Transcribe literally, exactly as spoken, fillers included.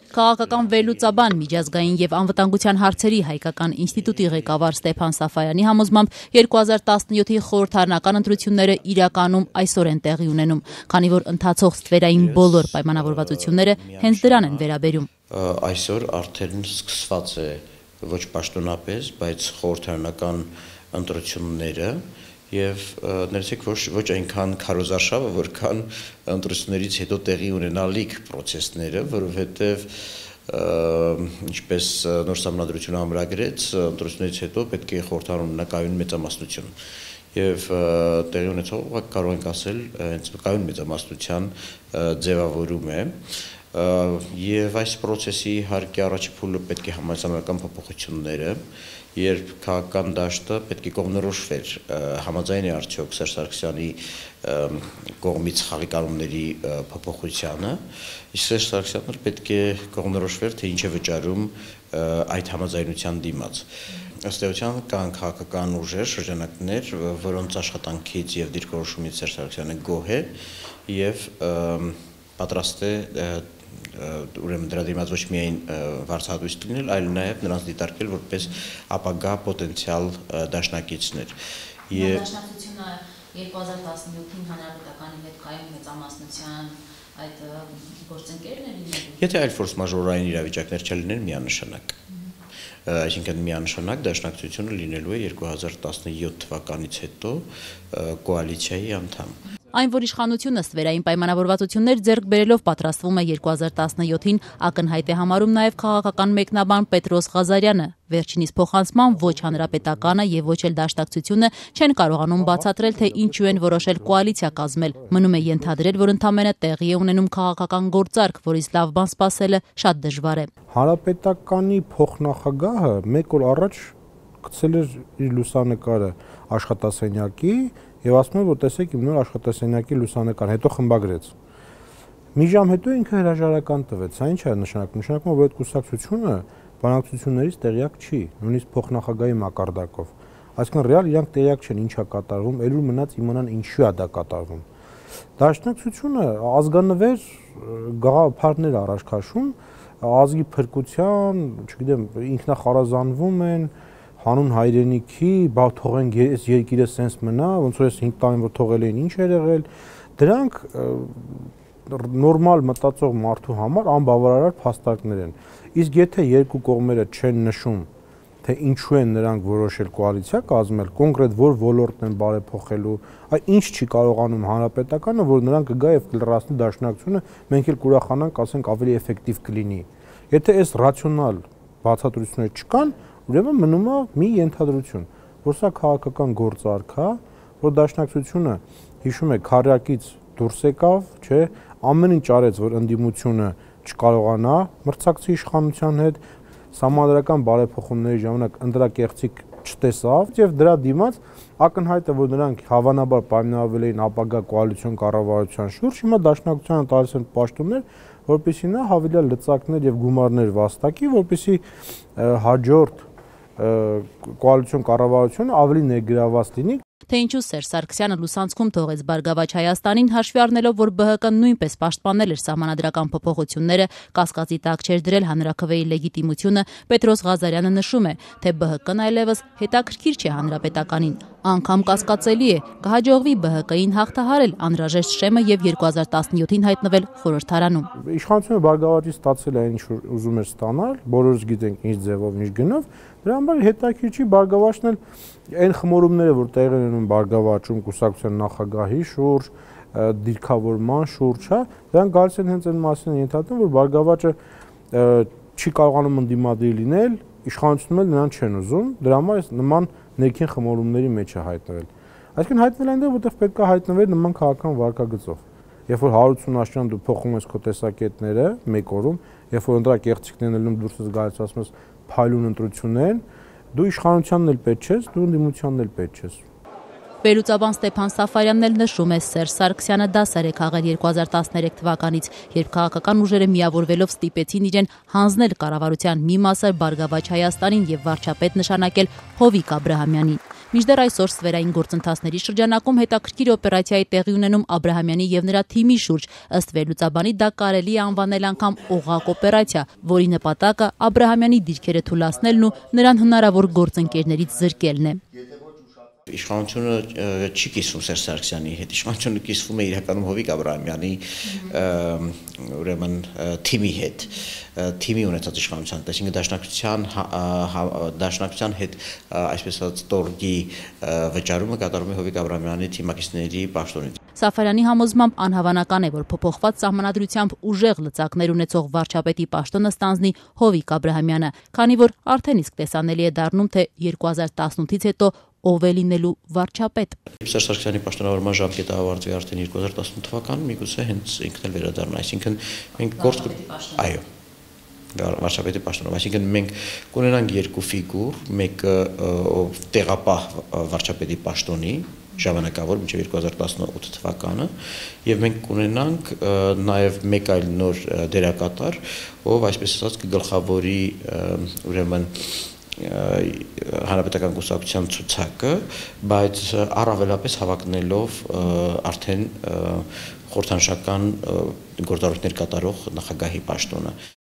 Քաղաքական վերլուծաբան, միջազգային եւ անվտանգության հարցերի հայկական ինստիտուտի ղեկավար Ստեփան Սաֆարյանի համոզմամբ երկու հազար տասնյոթի խորհրդարանական ընտրությունները իրականում այսօր են տեղի ունենում, քանի որ ընթացող ստվերային բոլոր պայմանավորվածությունները հենց դրան են վերաբերում։ Այսօր արդեն սկսված է ոչ պաշտոնապես, բայց խորհրդարանական ընտրությունները եւ ներեցեք ոչ ոչ այնքան քարոզարշավը, որքան ընտրություններից հետո տեղի ունենալիք process-ները, որովհետեւ ինչպես նոր սահմանադրությունը ամրագրեց, ընտրություններից հետո պետք է խորհրդարանում նկայուն մեծամասնություն եւ տեղի ունեցողը կարող ենք ասել հենց նկայուն մեծամասնության ձևավորում է եւ այս process-ի իհարկե առաջի փուլը պետք է համաձայնական փոփոխությունները, երբ քաղաքական դաշտը պետք է կողմնորոշվեր համաձայն է արդյոք Սերժ Սարգսյանի կողմից խաղի կանոնների փոփոխությանը, իսկ Սերժ Սարգսյանը պետք է կողմնորոշվեր, թե ինչ է վճարում այդ համաձայնության դիմաց։ Ըստ էության կան քաղաքական ուժեր, շրջանակներ, որոնց աշխատանքից եւ դիրքորոշումից Սերժ Սարգսյանը գոհ է եւ պատրաստ է ուրեմն դրա դիմաց ոչ միայն վարձահատույց լինել, այլ նաև նրանց դիտարկել որպես ապագա պոտենցիալ դաշնակիցներ։ Եվ դաշնակցությունը երկու հազար տասնյոթին հանրապետականի հետ կայուն մեծամասնության այդ գործընկերն է լինելու։ Եթե այլ ֆորս մաժորային իրավիճակներ չլիներ, միանշանակ։ Այսինքն միանշանակ դաշնակցությունը լինելու է երկու հազար տասնյոթ թվականից հետո կոալիցիայի անդամ։ Այն, որ իշխանությունը ստվերային պայմանավորվածություններ ձեռք բերելով պատրաստվում է երկու հազար տասնյոթին, ակնհայտ է համարում նաև քաղաքական մեկնաբան Պետրոս Ղազարյանը։ Վերջինիս փոխանցման ոչ հանրապետականը եւ ոչ էլ դաշնակցությունը չեն կարողանում բացատրել, թե ինչու են որոշել կոալիցիա կազմել։ Մնում է ենթադրել, որ ընդամենը տեղի է ունենում քաղաքական գործարք, որից լավ բան սպասելը շատ դժվար է։ Հանրապետականի փոխնախագահը մեկ օր առաջ գցել էր իր լուսանկարը աշխատասենյակի եւ ասում է, որ տեսեք իմ նոր աշխատասենյակի լուսանկարը, հետո խմբագրեց։ Մի ժամ հետո ինքը հրաժարական տվեց, սա ինչ է նշանակում, նշանակում է, որ այդ կուսակցությունը բանակցություններից տեղյակ չի, նույնիսկ փոխնախագահի մակարդակով։ Այսինքն ռեալ իրանք տեղյակ չեն ինչ է կատարվում, ելույթ մնաց իմանան ինչու է դա կատարվում։ Դաշնակցությունը ազգանվեր գաղափարներ առաջ քաշում, ազգի փրկության, չգիտեմ, ինքնախարազանվում են, հանուն հայրենիքի, բա թողենք այս երկիրը սենց մնա, ոնց որ այս հինգ տարին որ թողել էին ինչ էր եղել, դրանք նորմալ մտածող մարդու համար անբավարար փաստարկներ են։ Իսկ եթե երկու կողմերը չեն նշում, թե ինչու են նրանք որոշել կոալիցիա կազմել, կոնկրետ որ ոլորտն են բարեփոխելու, այ ինչ չի կարողանում հանրապետականը, որ նրանք կգա եւ կլրացնի դաշնակցությունը, մենք էլ կուրախանանք, ասենք ավելի էֆեկտիվ կլինի։ Եթե այս ռացիոնալ բացատրությունները չկան, ուրեմն մնում է մի ենթադրություն, որ սա քաղաքական գործարք է, որ դաշնակցությունը հիշում է քարյակից դուրս եկավ, չէ, ամեն ինչ արեց, որ ընդդիմությունը չկարողանա մրցակցի իշխանության հետ, սահմանադրական բարեփոխումների ժամանակ ընտրակեղծիք չտեսավ եւ դրա դիմաց ակնհայտ է, որ նրանք հավանաբար պայմանավորվել էին ապագա կոալիցիոն կառավարության շուրջ, հիմա դաշնակցությանը տալիս են պաշտոններ, որպեսզի նա հավելյալ լծակներ եւ գումարներ վաստակի, որպեսզի հաջորդ կոալիցիոն կառավարությունը ավելի ներգրավված լինի։ Թե ինչու Սերժ Սարգսյանը լուսանցքում թողեց Բարգավաճ Հայաստանին, հաշվի առնելով, որ ԲՀԿ-ն նույնպես պաշտպանել էր սահմանադրական փոփոխությունները, կասկածի տակ չէր դրել հանրաքվեի լեգիտիմությունը, Պետրոս Ղազարյանը նշում է, թե ԲՀԿ-ն այլևս հետաքրքիր չէ հանրապետականին։ Անգամ կասկածելի է, կհաջողվի ԲՀԿ-ին հաղթահարել անհրաժեշտ շեմը եւ երկու հազար տասնյոթին հայտնվել խորհրդարանում։ Իշխանությունը Բարգավաճից ստացել է ինչ որ ուզում էր ստանալ, բոլորս գիտենք ինչ ձևով, ինչ գնով, դրա համար հետաքրքիր չի Բարգավաճն էլ այն խմորումները, որ տեղի են ունենում Բարգավաճում կուսակցության նախագահի շուրջ, դիրքավորման շուրջ, հա, դրանք գալիս են հենց այն մասին են ենթադրում, որ Բարգավաճը չի կարողանում ընդդիմադիր լինել, իշխանությունն էլ նրան չեն ուզում, դրա համար այս նման ներքին խմորումների մեջ է հայտնվել։ Այսինքն հայտնվել այնտեղ, որտեղ պետք է հայտնվել նման քաղաքական վարկագծով։ Երբ որ հարյուր ութսուն աշճան դու փոխում ես քո տեսակետները մեկ օրում, երբ որ ընտրակեղծիքներն ելնում դուրս ես գալիս ասում ես փայլուն ընտրությունն են, դու իշխանությանն էլ պետք չես, դու ընդդիմությանն էլ պետք չես։ Վերլուծաբան Ստեփան Սաֆարյանն էլ նշում է, Սերժ Սարգսյանը դասեր է քաղել երկու հազար տասներեք թվականից, երբ քաղաքական ուժերը միավորվելով ստիպեցին իրեն հանձնել կառավարության մի մասը Բարգավաճ Հայաստանին եւ վարչապետ նշանակել Հովիկ Աբրահամյանին։ Մինչդեռ այսօր ստվերային գործընթացների շրջանակում հետաքրքիր օպերացիայի տեղի ունենում Աբրահամյանի եւ նրա թիմի շուրջ, ըստ վերլուծաբանի դա կարելի է անվանել անգամ օղակ օպերացիա, որի նպատակը Աբրահամյանի դիրքերը թուլացնելն ու նրան հնարավոր գործընկերներից զրկելն է։ Իշխանությունը չի կիսվում Սերժ Սարգսյանի հետ, իշխանությունը կիսվում է իրականում Հովիկ Աբրահամյանի ուրեմն թիմի հետ, թիմի ունեցած իշխանության, այսինքն դաշնակցության դաշնակցության հետ այսպես ասած տորգի վճարումը կատարում է Հովիկ Աբրահամյանի թիմակիցների պաշտոնից։ Սաֆարյանի համոզմամբ անհավանական է, որ փոփոխված սահմանադրությամբ ուժեղ լծակներ ունեցող վարչապետի պաշտոնը ստանձնի Հովիկ Աբրահամյանը, քանի որ արդեն իսկ տեսանելի է դառնում, թե երկու հազար տասնութից հետո ով է լինելու վարչապետ։ Սերժ Սարգսյանի պաշտոնավորման ժամկետը ավարտվի արդեն երկու հազար տասնութ թվականին, միգուցե հենց ինքն էլ վերադառնա, այսինքն մենք գործ այո, վարչապետի պաշտոնով, այսինքն մենք կունենանք երկու ֆիգուր, մեկը ով տեղապահ վարչապետի պաշտոնի ժամանակավոր մինչև երկու հազար տասնութ թվականը, եւ մենք կունենանք նաեւ մեկ այլ նոր դերակատար, ով այսպես ասած կգլխավորի ուրեմն հանրապետական կուսակցության ցուցակը, բայց առավելապես հավակնելով արդեն խորհրդանշական գործառույթներ կատարող նախագահի պաշտոնը։